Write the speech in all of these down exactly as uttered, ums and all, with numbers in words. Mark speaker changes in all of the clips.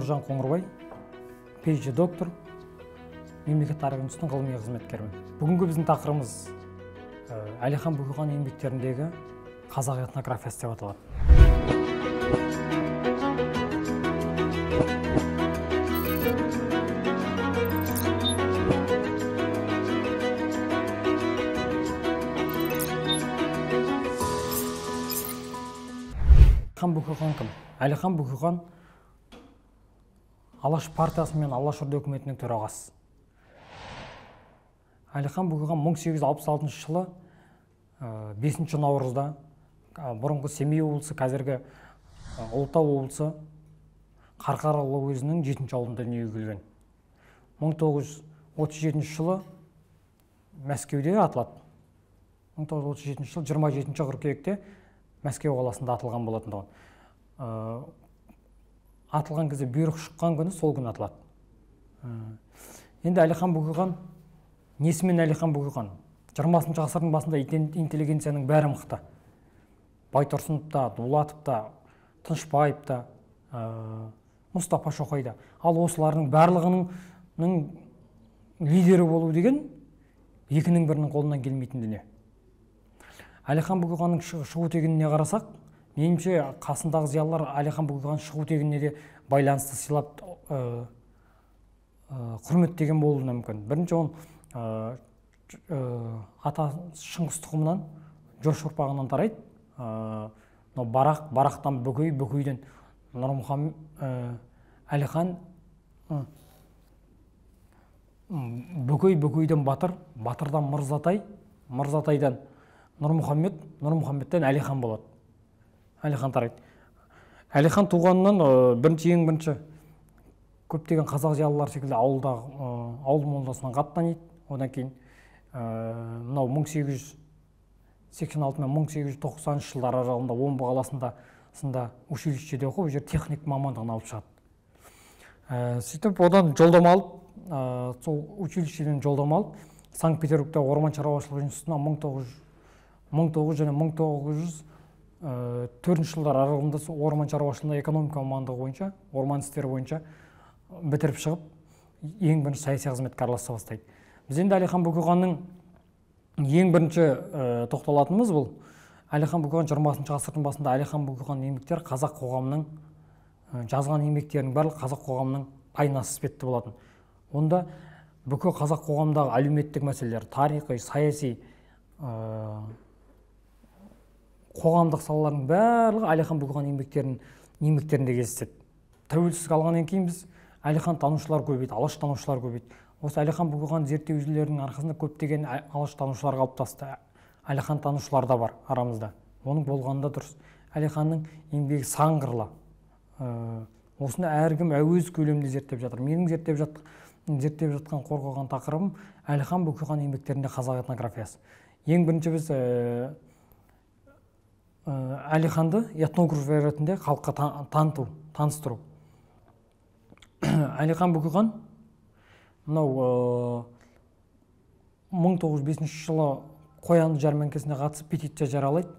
Speaker 1: Нұржан Қоңырбай, PhD доктор, мемлекеттік тарих институтының ғылыми қызметкерімін. Бүгінгі біздің тақырыбымыз Әлихан Бөкейхан еңбектеріндегі қазақ этнографиясы деп аталады. Әлихан Бөкейхан кім? Әлихан Бөкейхан Алаш партиясы мен Алашорда үкіметінің төрағасы. Әлихан Бөкейхан мың сегіз жүз алпыс алтыншы жылы бесінші наурызда бұрынғы Семей облысы, қазіргі Ұлытау облысы Қарқаралы уезінің жетінші ауылында дүниеге келген. мың тоғыз жүз отыз жетінші жылы Мәскеуде атылады. мың тоғыз жүз отыз жетінші жылы жиырма жетінші қыркүйекте Мәскеу қаласында атылған болатын. Атылған кезде бұйрық шыққан күні сол күні атылады. Енді Әлихан Бөкейхан, несімен Әлихан Бөкейхан? жиырмасыншы ғасырдың басында интеллигенцияның бәрі мықты. Байтұрсынов та, Дулатов та, Тынышпаев та, Мұстафа Шоқай да. Ал осылардың барлығының лидері болу деген екінің бірінің қолынан келмейтін дүние. Әлихан Бөкейханның шығу тегініне қарасақ, меніңше қасындағы зиялылар Әлихан Бөкейхан шығу тегініне де байланысты сыйлап құрметтеген болуы мүмкін. Бірінші он ата Шыңғыс тұқымынан, Жош ұрпағынан тарайды. Барақ, Барақтан Бөкей, Бөкейден Нұрмұхаммед, Әлихан, Бөкей, Бөкейден Батыр, Батырдан Мырзатай, Мырзатайдан Нұрмұхаммед, Нұрмұхаммедтен Әлихан болады. Әлихан тарайды. Әлихан туғанынан бірінші ең бірінші көптеген қазақ зиялылар секілді ауылдағы ауыл молдасынан қатты таниды. Одан кейін мынау мың сегіз жүз сексен алты мен мың сегіз жүз тоқсаныншы жылдар аралығында Омбы қаласында сында училищеде оқып, жер техник мамандығын алып шығады. Сөйтіп одан жолдама алып, сол училищеден жолдама алып, Санкт-Петербургта орман шаруашылығы институтына мың тоғыз жүз және мың тоғыз жүз төртінші жылдар аралығында орман шаруашылығында экономика мамандығы бойынша, орман істері бойынша бітіріп шығып, ең бірінші саяси қызметке араласа бастайды. Біз енді Әлихан Бөкейханның ең бірінші тоқталатынымыз бұл. Әлихан Бөкейхан жиырмасыншы ғасырдың басында Әлихан Бөкейхан еңбектері қазақ қоғамының жазған еңбектерінің барлығы қазақ қоғамының айнасы іспетті болатын. Онда бүкіл қазақ қоғамдағы әлеуметтік мәселелер, тарихи, саяси, қоғамдық салалардың барлығы Әлихан Бөкейхан еңбектерінде кездеседі. Тәуелсіздік алғаннан кейін біз Әлихан танушылар көбейді, Алаш танушылар көбейді. Осы Әлихан Бөкейхан зерттеушілерінің арқасында көптеген Алаш танушылар қалыптасты. Әлихан танушылар да бар арамызда. Оның болғанында дұрыс. Әлиханның еңбегі сан қырлы. Осыны әркім өз көлемінде зерттеп жатыр. Менің зерттеп зерттеп жатқан қорғаған тақырыбым Әлихан Бөкейхан еңбектерінде қазақ этнографиясы. Ең бірінші біз Әлиханды этнограф ретінде халыққа таныту, таныстыру. Әлихан Бөкейхан мынау мың тоғыз жүз бесінші жылы Қоянды жәрмеңкесіне қатысып петиция жариялайды.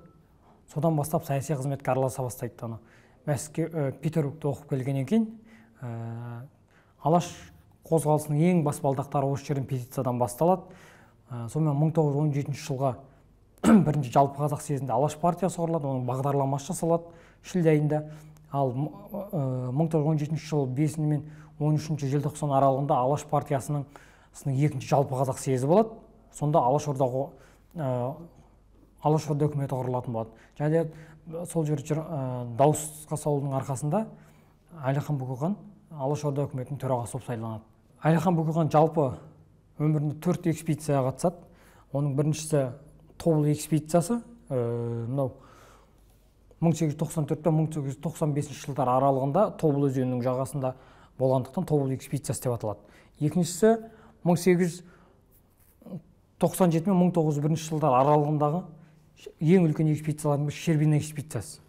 Speaker 1: Содан бастап саяси қызметке араласа бастайды. Мәскеу, Петербургте оқып келгеннен кейін Алаш қозғалысының ең баспалдақтары осы жерден петициядан басталады. Сонымен мың тоғыз жүз он жетінші жылға бірінші жалпы қазақ съезінде Алаш партиясы құрылады, оның бағдарламасы жасалады шілде айында. Ал мың тоғыз жүз он жетінші жылы бесінші мен он үшінші желтоқсан аралығында Алаш партиясының екінші жалпы қазақ съезі болады. Сонда Алашордаға Алашорда үкіметі құрылатын болады. Және сол жер дауысқа салудың арқасында Әлихан Бөкейхан Алашорда үкіметінің төрағасы болып сайланады. Әлихан Бөкейхан жалпы өмірінде төрт экспедицияға қатысады. Оның біріншісі Тобыл экспедициясы, мынау мың сегіз жүз тоқсан төрт пен мың сегіз жүз тоқсан бесінші жылдар аралығында Тобыл өзенінің жағасында болғандықтан Тобыл экспедициясы деп аталады. Екіншісі мың сегіз жүз тоқсан жеті мен мың тоғыз жүз бірінші жылдар аралығындағы ең үлкен экспедициялардың бірі Щербина экспедициясы.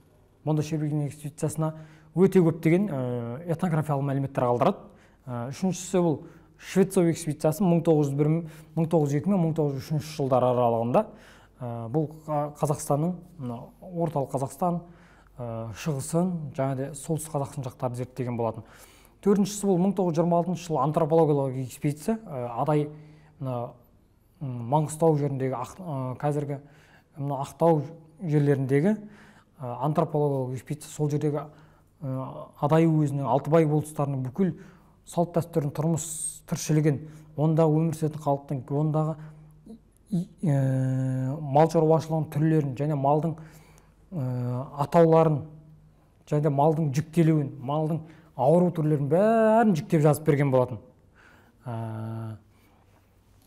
Speaker 1: Мұнда Щербина экспедициясына өте көптеген этнографиялық мәліметтер қалдырады. Үшіншісі бұл Швецов экспедициясы мың тоғыз жүз бір мың тоғыз жүз екі мен мың тоғыз жүз үшінші жылдар аралығында. Бұл Қазақстанның орталық Қазақстан, шығысын, және де солтүстік Қазақстан жақтарды зерттеген болатын. төртіншісі бұл мың тоғыз жүз жиырма алтыншы жылы антропологиялық экспедиция, адай мына Маңғыстау жеріндегі, қазіргі мына Ақтау жерлеріндегі антропологиялық экспедиция, сол жердегі Адай уезінің Алтыбай болыстарының бүкіл салт дәстүрін, тұрмыс тіршілігін, ондағы өмір сүретін халықтың, ондағы мал шаруашылығының түрлерін және малдың атауларын және малдың жүктелуін, малдың ауру түрлерін бәрін жүктеп жазып берген болатын.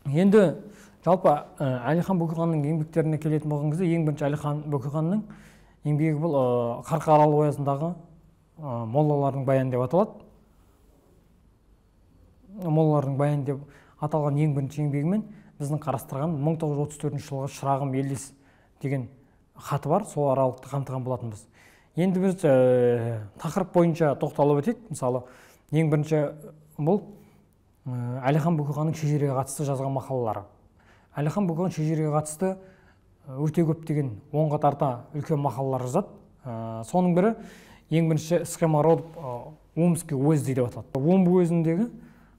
Speaker 1: Енді жалпы Әлихан Бөкейханның еңбектеріне келетін болған кезде, ең бірінші Әлихан Бөкейханның еңбегі бұл Қарқаралы оязындағы моллалардың баяны деп аталады. Моллалардың баяны деп аталған ең бірінші еңбегімен біздің қарастырған мың тоғыз жүз отыз төртінші жылғы Шырағым Елдес деген хаты бар, сол аралықты қамтыған болатынбыз. Енді біз тақырып бойынша тоқталып өтейік. Мысалы, ең бірінші бұл Әлихан Бөкейханның шежіреге қатысты жазған мақалалары. Әлихан Бөкейхан шежіреге қатысты өте көптеген онға тарта үлкен мақалалар жазады. Соның бірі ең бірінші схема родов Омский уезді деп аталады. Омбы уезіндегі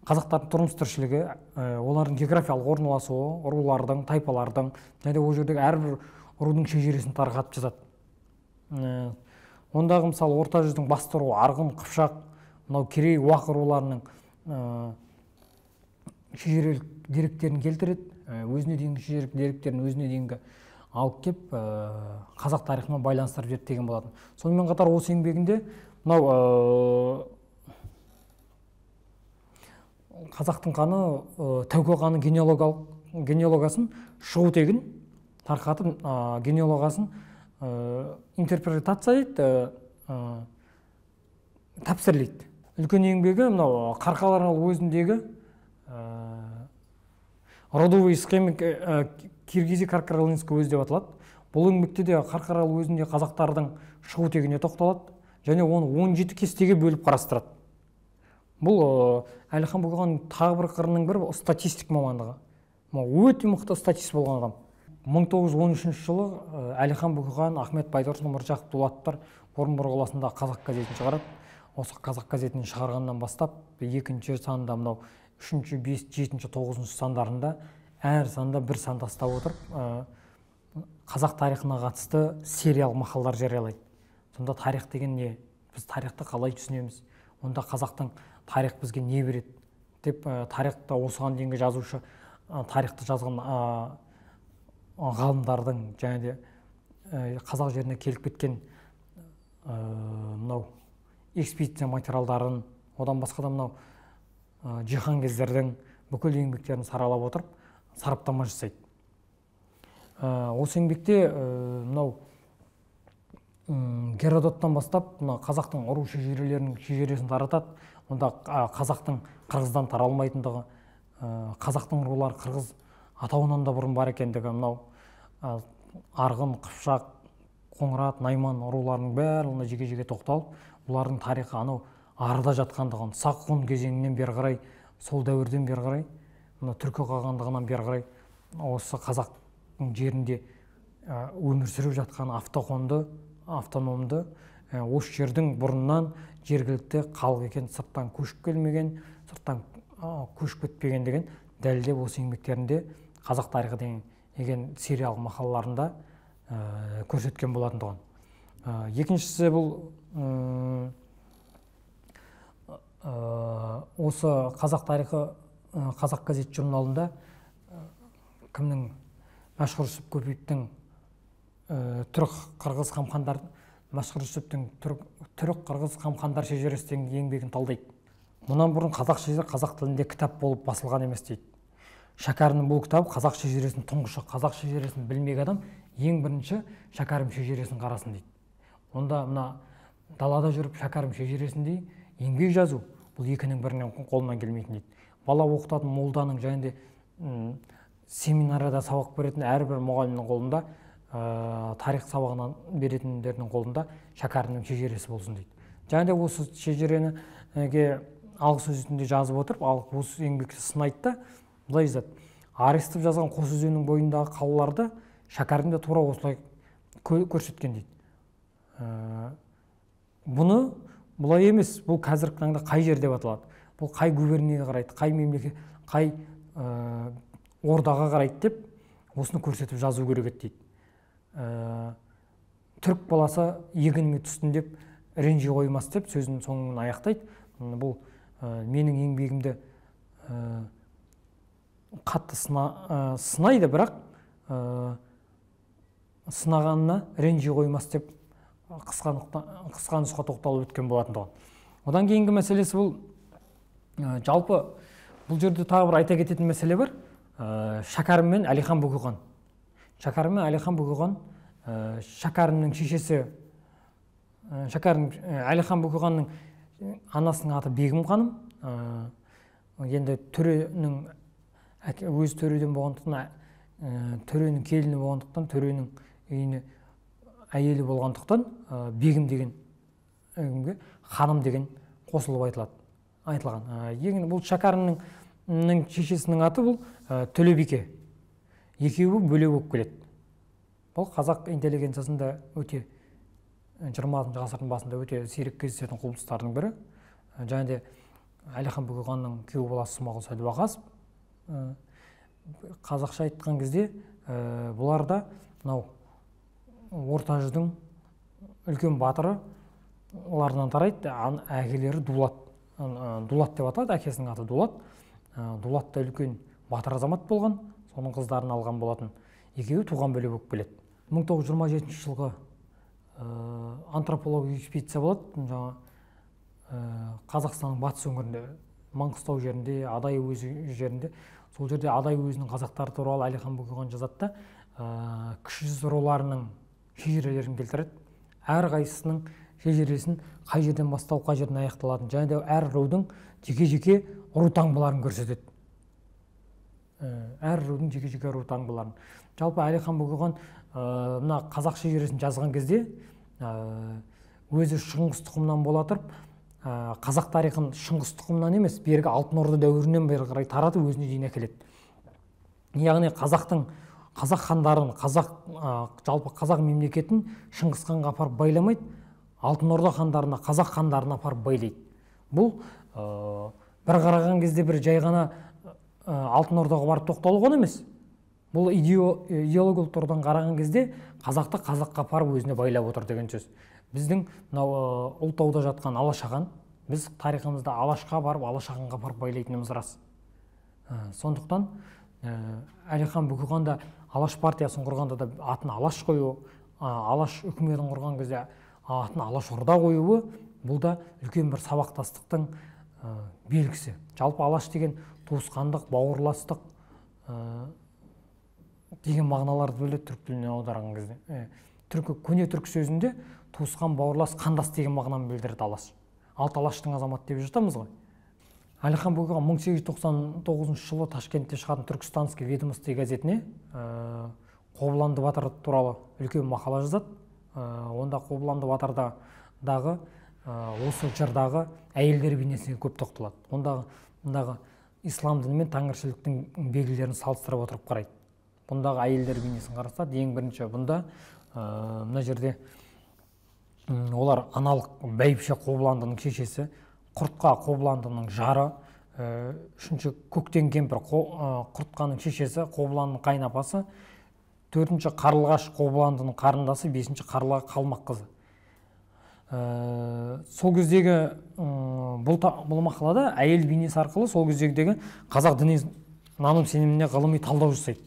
Speaker 1: қазақтардың тұрмыс тіршілігі, олардың географиялық орналасуы, рулардың, тайпалардың, және ол жердегі әрбір рудың шежіресін тарқатып жазады. Ондағы мысалы орта жүздің басты руы Арғын, Қыпшақ, мынау Керей, Уақ руларының шежірелік деректерін келтіреді, өзіне дейінгі шежірелік деректерін өзіне дейінгі алып кеп қазақ тарихымен байланыстырып зерттеген болатын. Сонымен қатар осы еңбегінде мынау қазақтың қаны, Тәуке ханның генеалогиясын, шығу тегін тарқатып, генеалогиясын интерпретация етті, тәпсірлейді. Үлкен еңбегі мынау Қарқаралы уезіндегі родовый схема Киргизия Қарқаралинский уезі деп аталады. Бұл еңбекте де Қарқаралы уезінде қазақтардың шығу тегіне тоқталады және оны он жеті кестеге бөліп қарастырады. Бұл Әлихан Бөкейхан тағы бір қырының бірі статистик мамандығы. Өте мықты статист болған адам. мың тоғыз жүз он үшінші жылы Әлихан Бөкейхан, Ахмет Байтұрсынов, Мыржақып Дулаттар Орынбор қаласында қазақ газетін шығарады. Осы қазақ газетін шығарғаннан бастап екінші санда, мынау үшінші, бес, жетінші, тоғызыншы сандарында әр санда бір сан тастап отырып қазақ тарихына қатысты сериал мақалалар жариялайды. Сонда тарих деген не? Біз тарихты қалай түсінеміз? Онда қазақтың тарих бізге не береді деп тарихта осыған дейінгі жазушы, тарихты жазған ғалымдардың және де қазақ жеріне келіп кеткен мынау экспедиция материалдарын, одан басқа да мынау жиһанкездердің бүкіл еңбектерін саралап отырып сараптама жасайды. Осы еңбекте мынау Геродоттан бастап қазақтың ұру шежірелерінің шежіресін таратады. Онда қазақтың қырғыздан таралмайтындығы, қазақтың рулары қырғыз атауынан да бұрын бар екендігі, мынау Арғын, Қыпшақ, Қоңырат, Найман руларының бәріне жеке-жеке тоқталып, бұлардың тарихы анау арада жатқандығын, сақ ғұн кезеңінен бері қарай, сол дәуірден бері қарай, түркі қағандығынан бері қарай, осы қазақтың жерінде өмір сүріп жатқан автохонды, автономды, осы жердің бұрыннан жергілікті халық екен, сырттан көшіп келмеген, сырттан көшіп кетпеген деген дәлелдеп осы еңбектерінде қазақ тарихы деген сериал мақалаларында көрсеткен болатындығын. Екіншісі бұл осы қазақ тарихы қазақ газет журналында кімнің Мәшһүр Жүсіп Көпеевтің түрік қырғыз қамқандар Мәшһүр Жүсіптің түрік қырғыз қамқандар шежіресі деген еңбегін талдайды. Мұнан бұрын қазақ шежіресі қазақ тілінде кітап болып басылған емес дейді. Шәкәрімнің бұл кітабы қазақ шежіресінің тұңғышы, қазақ шежіресін білмеген адам ең бірінші Шәкәрім шежіресін қарасын дейді. Онда мына далада жүріп Шәкәрім шежіресіндей еңбек жазу бұл екінің бірінен қолынан келмейтін дейді. Бала оқытатын молданың және де семинарияда сабақ беретін әрбір мұғалімнің қолында, тарих сабағынан беретіндердің қолында Шәкәрімнің шежіресі болсын дейді. Және де осы шежіреніге алғы сөзінде жазып отырып, алғы осы еңбекті сынайды да, былай жазады. Арестов жазған Қос өзенінің бойындағы қалаларды Шәкәрім де тура осылай көрсеткен дейді. Бұны бұлай емес, бұл қазіргі таңда қай жер деп аталады, бұл қай губернияға қарайды, қай мемлекет, қай ә, ордаға қарайды деп осыны көрсетіп жазу керек еді дейді. Ә, түрік баласы егініме түстін деп ренжи қоймас деп сөзін соңын аяқтайды. Бұл ә, менің еңбегімді ә, қатты сына, ә, сынайды, бірақ ә, сынағанына ренжи қоймас деп қысқа нұсқа тоқталып өткен болатын тұғын. Одан кейінгі мәселесі бұл ә, жалпы бұл жерде тағы бір айта кететін мәселе бар. Ә, Шәкәрім мен Әлихан Бөкейхан. Шәкәрім мен Әлихан Бөкейхан, ә, Шәкәрімнің шешесі, ә, Шәкәрім ә, Әлихан Бөкейханның анасының аты Бегім ханым. Ә, енді төренің өз төреден болғандықтан, ә, төренің келіні болғандықтан, төренің үйіне әйелі болғандықтан ә, Бегім деген ә, ханым деген қосылып айтылады, айтылған. Ә, ең бұл Шәкәрімнің шешесінің аты бұл ә, Төлебике. Екеуі бөлек болып келеді. Бұл қазақ интеллигенциясында өте жиырмасыншы ғасырдың басында өте сирек кездесетін құбылыстардың бірі. Және де Әлихан Бөкейханның күйеу баласы Смағұл Сәдуақасов. Қазақша айтқан кезде бұлар да мынау орта жүздің үлкен батыры, олардан тарайды. Әкелері Дулат. Дулат деп аталады, әкесінің аты Дулат. Дулат та үлкен батыр азамат болған, соның қыздарын алған болатын. Екеуі туған бөлек болып келеді. мың тоғыз жүз жиырма жетінші жылғы антропологиялық экспедиция болады. Жаңа Қазақстанның батыс өңірінде, Маңғыстау жерінде, Адай уезі жерінде, сол жерде Адай уезінің қазақтары туралы Әлихан Бөкейхан жазады да, кіші жүз руларының шежірелерін келтіреді. Әр қайсысының шежіресін қай жерден басталып, қай жерден аяқталатын, және де әр рудың жеке-жеке ру таңбаларын көрсетеді. Әр рудың жеке-жеке ру таңбаларын. Жалпы Әлихан Бөкейхан мына қазақ шежіресін жазған кезде өзі Шыңғыс тұқымынан бола тұрып, қазақ тарихын Шыңғыс тұқымынан емес, бергі Алтын Орда дәуірінен бері қарай таратып өзіне дейін әкеледі. Яғни қазақтың қазақ хандарын, қазақ жалпы қазақ мемлекетін Шыңғыс ханға апарып байламайды, Алтын Орда хандарына, қазақ хандарына апарып байлайды. Бұл бір қараған кезде бір жай ғана Алтын Ордаға барып тоқталу ғана емес. Бұл идеологиялық тұрғыдан қараған кезде қазақты қазаққа апарып өзіне байлап отыр деген сөз. Біздің Ұлытауда жатқан Алашахан, біз тарихымызда Алашқа барып, Алашаханға барып байлайтынымыз рас. Сондықтан Әлихан Бөкейхан да Алаш партиясын құрғанда да атын Алаш қою, Алаш үкіметін құрған кезде атын Алаш Орда қоюы, бұл да үлкен бір сабақтастықтың белгісі. Жалпы Алаш деген туысқандық, бауырластық деген мағыналарды бөледі түрік тіліне аударған кезде. Түркі, көне түрік сөзінде туысқан, бауырлас, қандас деген мағынаны білдіреді Алаш. Алты Алаштың азамат деп жатамыз ғой. Әлихан Бөкейхан мың сегіз жүз тоқсан тоғызыншы жылы Ташкентте шығатын Түркістанский ведомство газетіне Қобыланды батыр туралы үлкен мақала жазады. Онда Қобыланды батырдағы осы жырдағы әйелдер бейнесіне көп тоқталады. Ондағы ислам діні мен тәңіршіліктің белгілерін салыстырып отырып қарайды. Бұндағы әйелдер бейнесін қарастырады. Ең бірінші бұнда мына жерде олар аналық бәйбіше Қобыландының шешесі, Құртқа Қобыландының жары, үшінші Көктен кемпір Құртқаның шешесі, Қобыландының қайнапасы, төртінші Қарлығаш Қобыландының қарындасы, бесінші Қарлыға Қалмақ қызы. Сол кездегі бұл мақалада әйел бейнесі арқылы сол кездегі қазақ діни наным сеніміне ғылыми талдау жасайды.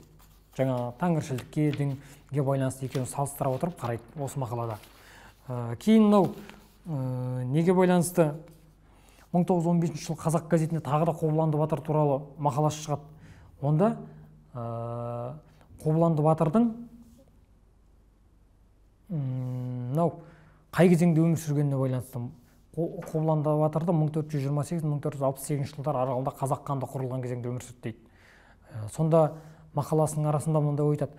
Speaker 1: Жаңа тәңіршілдікке, дінге байланысты екеуін салыстыра отырып қарайды осы мақалада. Кейін мынау неге байланысты мың тоғыз жүз он бесінші жылы Қазақ газетінде тағы да Қобыланды батыр туралы мақаласы шығады. Онда Қобыланды батырдың мынау қай кезеңде өмір сүргеніне байланысты. Қобыланды батырды мың төрт жүз жиырма сегіз мың төрт жүз алпыс сегізінші жылдар аралығында қазақ хандығы құрылған кезеңде өмір сүрді дейді. Сонда мақаласының арасында мынандай ой айтады.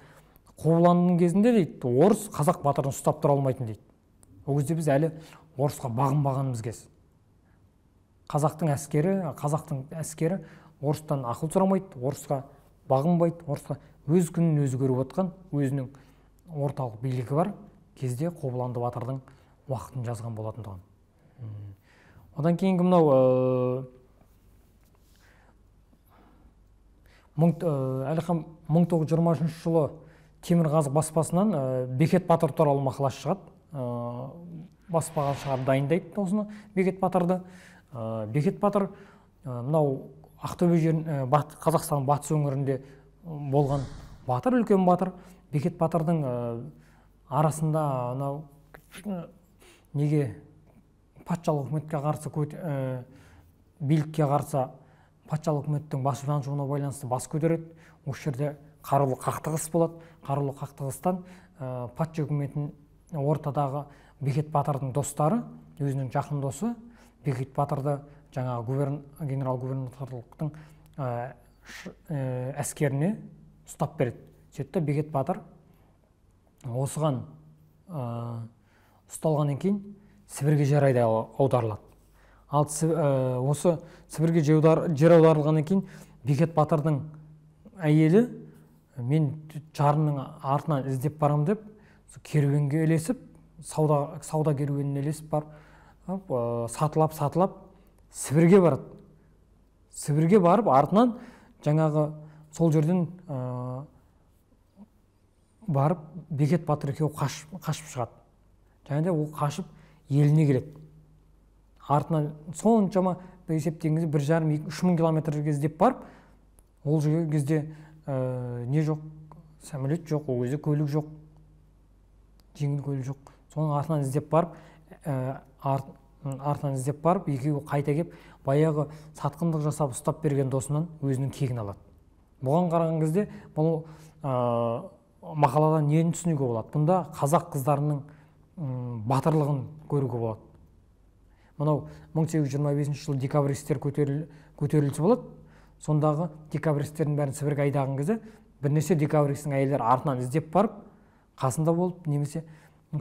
Speaker 1: Қобыландының кезінде дейді, орыс қазақ батырын ұстап тұра алмайтын дейді. Ол кезде біз әлі орысқа бағынбағанымыз кез. Қазақтың әскері, қазақтың әскері орыстан ақыл сұрамайды, орысқа бағынбайды, орысқа өз күнін өзі көріп отқан, өзінің орталық билігі бар кезде Қобыланды батырдың уақытын жазған болатындығын. Одан кейінгі мынау Әлихан мың тоғыз жүз жиырма үшінші жылы Темірқазық баспасынан Бекет Батыр туралы мақала шығады. Баспаға шығарып дайындайды осыны Бекет Батырды. Бекет Батыр мынау Ақтөбе жерін, Қазақстан батыс өңірінде болған батыр, үлкен батыр. Бекет Батырдың арасында мынау неге патшалық үкіметке қарсы, билікке қарсы патшалық үкіметтің басы жануына байланысты бас көтереді. Осы жерде қарулы қақтығыс болады. Қарулы қақтығыстан патша үкіметін ортадағы Бекет Батырдың достары, өзінің жақын досы Бекет Батырды жаңағы генерал-губернаторлықтың әскеріне ұстап береді. Сөйтті Бекет Батыр осыған ұсталғаннан кейін Сібірге жер аударылады. Ал осы Сібірге жер аударылғаннан кейін Бекет Батырдың әйелі мен жарының артынан іздеп барам деп керуенге ілесіп, сауда керуеніне ілесіп барып, сатылап сатылап Сібірге барады. Сібірге барып артынан жаңағы сол жерден барып Бекет Батыр екеуі қашып шығады. Және де ол қашып еліне келеді. Артынан соншама есептегенде бір жарым үш мың километрге іздеп барып, ол кезде не жоқ, самолет жоқ, ол кезде көлік жоқ, жеңіл көлік жоқ. Соның артынан іздеп барып, артынан іздеп барып, екеуі қайта кеп, баяғы сатқындық жасап ұстап берген досынан өзінің кегін алады. Бұған қараған кезде бұл мақаладан нені түсінуге болады? Бұнда қазақ қыздарының батырлығын көруге болады. Мынау мың сегіз жүз жиырма бесінші жылы декабристер көтерілісі болады. Сондағы декабристердің бәрін Сібірге айдаған кезде бірнеше декабристің әйелдері артынан іздеп барып, қасында болып, немесе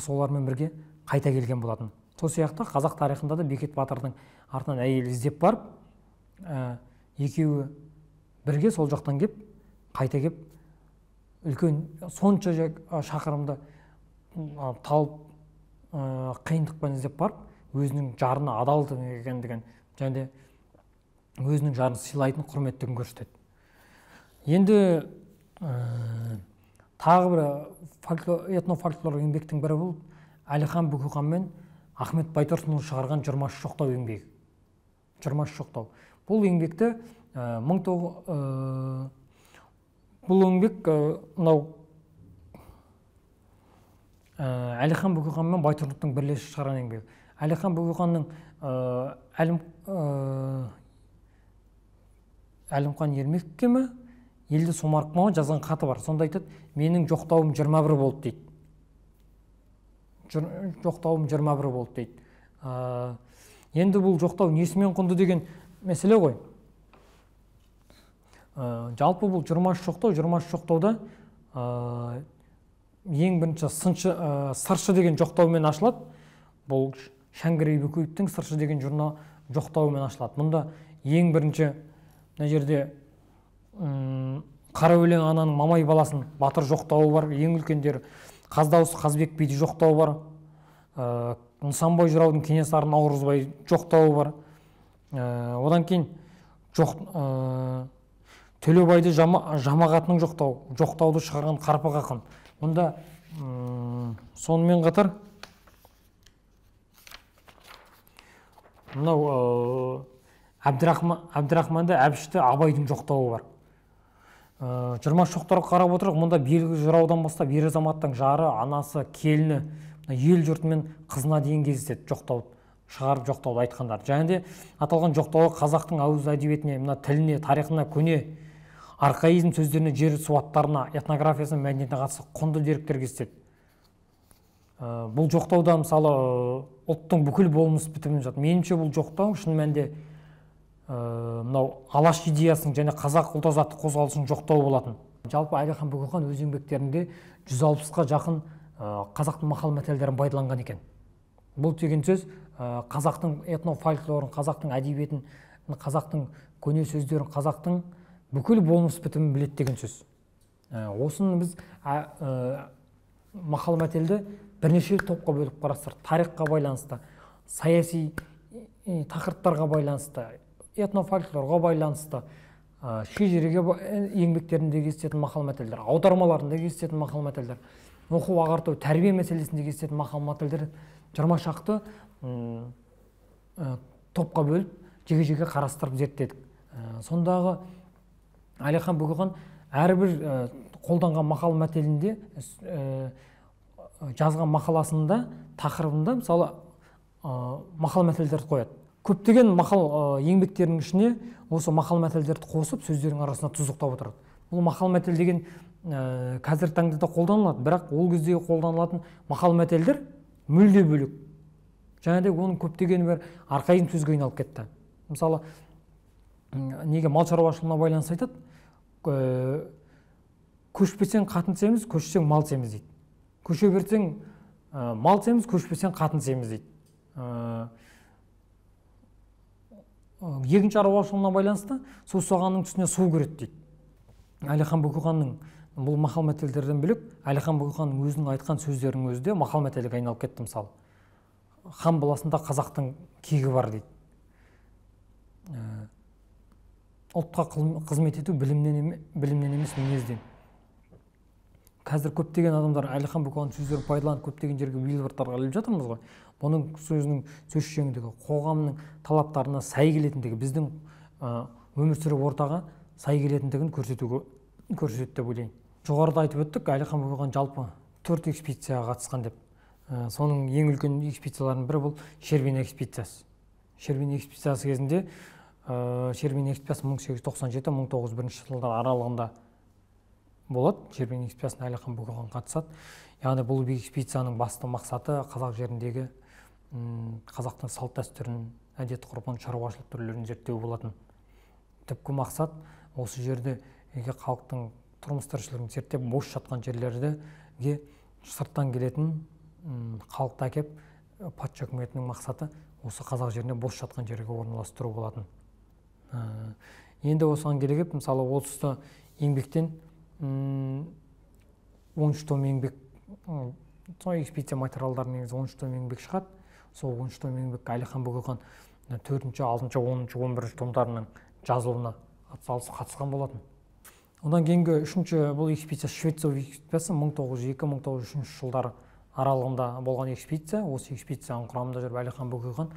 Speaker 1: солармен бірге қайта келген болатын. Сол сияқты қазақ тарихында да Бекет Батырдың артынан әйел іздеп барып, екеуі бірге сол жақтан кеп, қайта кеп, үлкен сонша шақырымды талып, қиындықпен іздеп барып, өзінің жарына адалдық екендігін және өзінің жарын сыйлайтын құрметтігін көрсетеді. Енді тағы бір этнофольклор еңбектің бірі болып, Әлихан Бөкейхан мен Ахмет Байтұрсынұлы шығарған жиырма үш жоқтау еңбегі. жиырма үш жоқтау. Бұл еңбекті бұл еңбек мынау Әлихан Бөкейхан мен Байтұрсынұлының бірлесіп шығарған еңбегі. Әлихан Бөкейханның Әлімқан Ермекке ме, Елді Сомарқұлға жазған хаты бар. Сонда айтады, менің жоқтауым жиырма бір болды дейді. Жоқтауым жиырма бір болды дейді. Енді бұл жоқтау несімен құнды деген мәселе ғой. Жалпы бұл жиырма үш жоқтау, жиырма үш жоқтауда ең бірінші сыршы деген жоқтаумен ашылады. Бұл Шәңгірей Бөкеевтің сыршы деген журнал жоқтауымен ашылады. Мұнда ең бірінші мына жерде Қара өлең ананың Мамай баласын батыр жоқтауы бар, ең үлкендері. Қаздауысы Қазбек биді жоқтауы бар. Нысанбай жыраудың Кенесары Наурызбай жоқтауы бар. Одан кейін Төлебайды Жамағатының жоқтауы, жоқтауды шығарған Қарпақ ақын. Мұнда сонымен қатар мынау Әбдірахманды Әбішті Абайдың жоқтауы бар. жиырма үш жоқтарға қарап отырып, мұнда белгі жыраудан бастап ер азаматтың жары, анасы, келіні, ел жұртымен қызына дейін кездеседі жоқтауды, шығарып жоқтауды айтқандар. Және де аталған жоқтауы қазақтың ауыз әдебиетіне, мына тіліне, тарихына, көне, архаизм сөздеріне, жер суаттарына, этнографиясына, мәдениетіне қатысты құнды деректер кездеседі. Бұл жоқтауда мысалы ұлттың бүкіл болмыс бітімін жатыр. Меніңше бұл жоқтау шын мәнінде мынау алаш идеясының және қазақ ұлт азаттық қозғалысының жоқтауы болатын. Жалпы Әлихан Бөкейхан өз еңбектерінде жүз алпысқа жақын қазақтың мақал мәтелдерін пайдаланған екен. Бұл деген сөз қазақтың этнофольклорын, қазақтың әдебиетін, қазақтың көне сөздерін, қазақтың бүкіл болмыс бітімін біледі деген сөз. Осыны біз мақал мәтелді бірнеше топқа бөліп қарастырдық. Тарихқа байланысты, саяси тақырыптарға байланысты, этнофольклорға байланысты, шежіреге еңбектерінде кездесетін мақал мәтелдер, аудармаларында кездесетін мақал мәтелдер, оқу ағарту, тәрбие мәселесінде кездесетін мақал мәтелдер жиырма шақты топқа бөліп, жеке-жеке қарастырып зерттедік. Сондағы Әлихан Бөкейхан әрбір қолданған мақал мәтелінде, жазған мақаласында, тақырыбында мысалы мақал мәтелдерді қояды. Көптеген мақал еңбектерінің ішіне осы мақал мәтелдерді қосып, сөздердің арасына тұздықтап отырады. Бұл мақал мәтел деген қазіргі таңда да қолданылады, бірақ ол кездегі қолданылатын мақал мәтелдер мүлде бөлек. Және де оның көптеген бір арқайым сөзге айналып кетті. Мысалы, неге мал шаруашылығына байланысты айтады, көшпесең қатын семіз, көшсең мал семіз дейді. Көше берсең мал семіз, көшпесең қатын семіз дейді. Егін шаруашылығына байланысты су сағанның түсіне су кіреді дейді. Әлихан Бөкейханның бұл мақал мәтелдерден бөлек, Әлихан Бөкейханның өзінің айтқан сөздерінің өзі де мақал мәтелге айналып кетті. Мысалы, хан баласында қазақтың кегі бар дейді. Ұлтқа қызмет ету білімнен емес мінезден. Қазір көптеген адамдар Әлихан Бөкейханның сөздерін пайдаланып көптеген жерге билбордтарға іліп жатырмыз ғой. Бұның сөзінің сөз шеңдігі, қоғамның талаптарына сай келетіндігі, біздің өмір сүру ортаға сай келетіндігін көрсетуге көрсетті деп ойлаймын. Жоғарыда айтып өттік, Әлихан Бөкейхан жалпы төрт экспедицияға қатысқан деп. Соның ең үлкен экспедицияларының бірі бұл Шербен экспедициясы. Шербен экспедициясы кезінде Шербен экспедициясы мың сегіз жүз тоқсан жеті мың тоғыз жүз бірінші жылдар аралығында болады. Шербен экспедициясына Әлихан Бөкейхан қатысады. Яғни бұл экспедицияның басты мақсаты қазақ жеріндегі қазақтың салт дәстүрін, әдет ғұрпын, шаруашылық түрлерін зерттеу болатын. Түпкі мақсат осы жерде халықтың тұрмыс тіршілігін зерттеп, бос жатқан жерлерге сырттан келетін халықты әкеп, патша үкіметінің мақсаты осы қазақ жеріне бос жатқан жерге орналастыру болатын. Енді осыған келіп, мысалы отыз еңбектен он үш том еңбек, сол экспедиция материалдарының негізі он үш том еңбек шығады. Сол он үш том еңбек Әлихан Бөкейхан төртінші, алтыншы, оныншы, он бірінші томдарының жазылуына атсалысып қатысқан болатын. Одан кейінгі үшінші бұл экспедиция Швеция экспедициясы мың тоғыз жүз екі мың тоғыз жүз үшінші жылдары аралығында болған экспедиция. Осы экспедицияның құрамында жүріп Әлихан Бөкейхан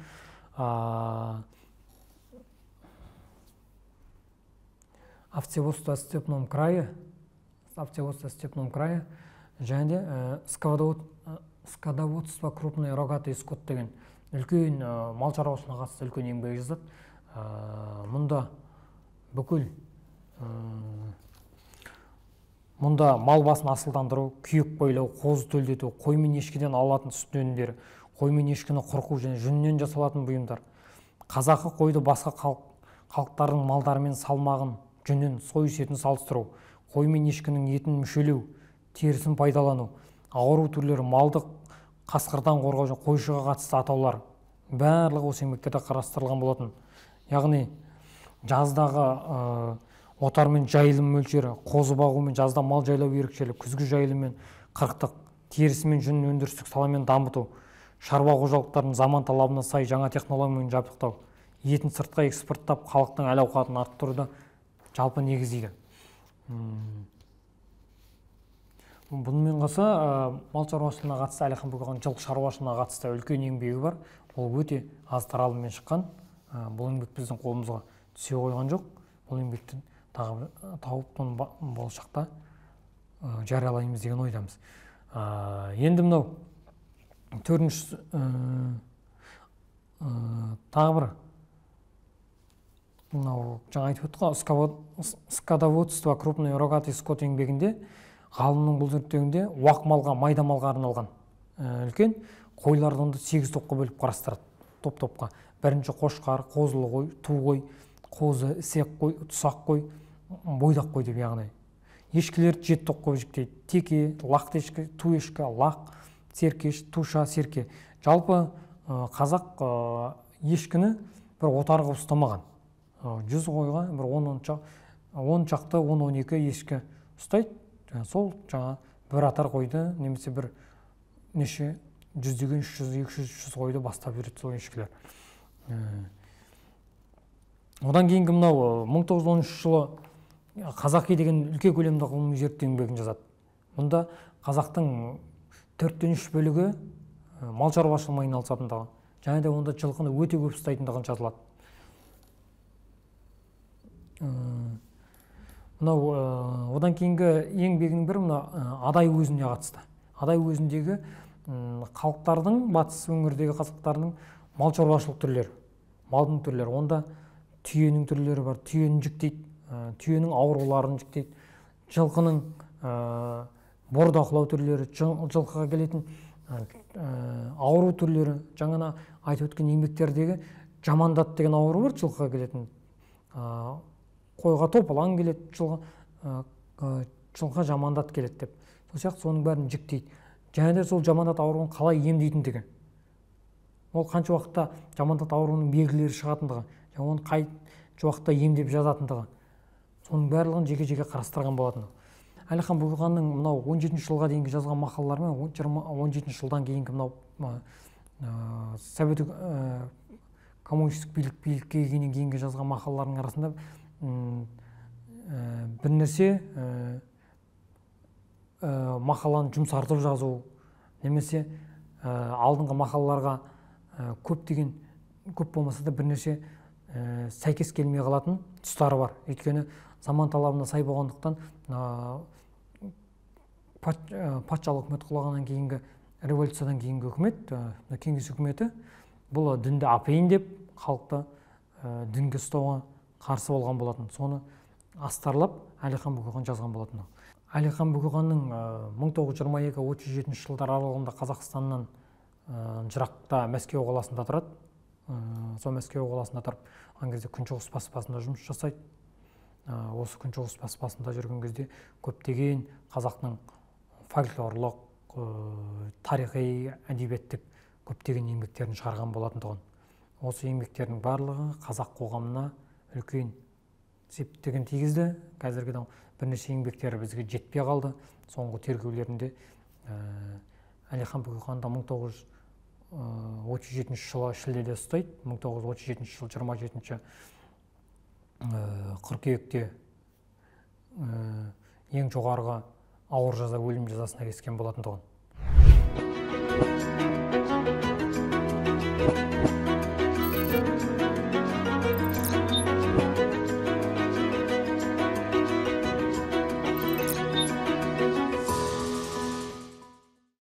Speaker 1: овцеводство в степном крае, овцеводство в степном крае және скотоводство крупный рогатый скот деген үлкен мал шаруашылығына қатысты үлкен еңбек жазады. Мұнда бүкіл мұнда мал басын асылдандыру, күйек байлау, қозы төлдету, қой мен ешкіден алатын сүт өнімдері, қой мен ешкіні қырқу және жүннен жасалатын бұйымдар, қазақы қойды басқа халықтардың малдарымен салмағын, жүнін, сойыс етін салыстыру, қой мен ешкінің етін мүшелеу, терісін пайдалану, ауру түрлері, малдық қасқырдан қорғау және қойшыға қатысты атаулар барлығы осы еңбектерде қарастырылған болатын. Яғни жаздағы отар мен жайылым мөлшері, қозы бағу мен жазда мал жайлау ерекшелігі, күзгі жайылым мен қырықтық, терісі мен жүн өндірістік саламен дамыту, шаруа қожалықтарын заман талабына сай жаңа технологиямен жабдықтау, етін сыртқа экспорттап, халықтың әл-ауқатын арттыруды жалпы негіздейді. Бұнымен қоса мал шаруашылығына қатысты Әлихан Бөкейхан жылқы шаруашылығына қатысты үлкен еңбегі бар. Ол өте аз таралыммен шыққан. Бұл еңбек біздің қолымызға түсе қойған жоқ. Бұл еңбекті тауып болашақта жариялаймыз деген ойдамыз. Енді мынау төртінші тағы бір мынау жаңа айтып өттік, скотоводство крупный рогатый скот еңбегінде ғалымның бұл зерттеуінде уақ малға, майда малға арналған үлкен қойларды сегіз топқа бөліп қарастырады. Топ-топқа. Бірінші қошқар, қозылы қой, ту қой, қозы, ісек қой, тұсақ қой, бойдақ қой деп яғни. Ешкілерді жеті топқа жіктейді. Теке, лақты ешкі, ту ешкі, лақ, серкеш, туша, серке. Жалпы қазақ ешкіні бір отарға ұстамаған. Жүз қойға бір он шақты, он он екі ешкі ұстайды. Сол жаңа бір атар қойды, немесе бір неше жүздеген үш жүз, екі жүз, үш жүз қойды бастап жүреді сол ешкілер. Одан кейінгі мынау мың тоғыз жүз оныншы жылы қазақи деген үлкен көлемді ғылыми зерттеу еңбегін жазады. Мұнда қазақтың төрттен үш бөлігі мал шаруашылығымен айналысатындығы, және де онда жылқыны өте көп ұстайтындығы жазылады. Мынау одан кейінгі еңбегінің бірі мына Адай уезіне қатысты. Адай уезіндегі халықтардың, батыс өңірдегі қазақтардың мал шаруашылық түрлері, малдың түрлері. Онда түйенің түрлері бар, түйенің жіктейді, түйенің ауруларын жіктейді, жылқының бордақылау түрлері, жылқыға келетін ауру түрлері. Жаңа айтып өткен еңбектердегі жамандат деген ауру бар, жылқыға келетін. Қойға топалаң келеді, жылқыға жамандат келеді деп. Сол сияқты соның бәрін жіктейді. Және де сол жамандат ауруын қалай емдейтіндігі. Ол қанша уақытта жамандат ауруының белгілері шығатындығы, және оны қай уақытта емдеп жазатындығы. Соның барлығын жеке-жеке қарастырған болатын. Әлихан Бөкейханның мынау он жетінші жылға дейінгі жазған мақалалары мен он жетінші жылдан кейінгі мынау совет коммунистік билік билікке келгеннен кейінгі жазған мақалаларының арасында бір нәрсе мақаланы жұмсартып жазу, немесе алдыңғы мақалаларға көп деген, көп болмаса да бір нәрсе сәйкес келмей қалатын тұстары бар. Өйткені заман талабына сай болғандықтан патшалық үкімет құлағаннан кейінгі, революциядан кейінгі үкімет, кеңес үкіметі бұл дінді апайын деп халықты дінге ұстауға қарсы болған болатын. Соны астарлап Әлихан Бөкейхан жазған болатын. Әлихан Бөкейханның мың тоғыз жүз жиырма екі отыз жетінші жылдар аралығында Қазақстаннан жырақта Мәскеу қаласында тұрады. Сол Мәскеу қаласында тұрып, ан кезде Күншығыс баспасында жұмыс жасайды. Осы Күншығыс баспасында жүрген кезде көптеген қазақтың фольклорлық, тарихи, әдебиеттік көптеген еңбектерін шығарған болатын тұғын. Осы еңбектердің барлығы қазақ қоғамына үлкен септігін тигізді. Қазіргі бірнеше еңбектері бізге жетпей қалды. Соңғы тергеулерінде Әлихан Бөкейханды мың тоғыз жүз отыз жетінші жылы шілдеде ұстайды. мың тоғыз жүз отыз жетінші жыл жиырма жетінші қыркүйекте ең жоғарғы ауыр жаза өлім жазасына кескен болатын тұғын.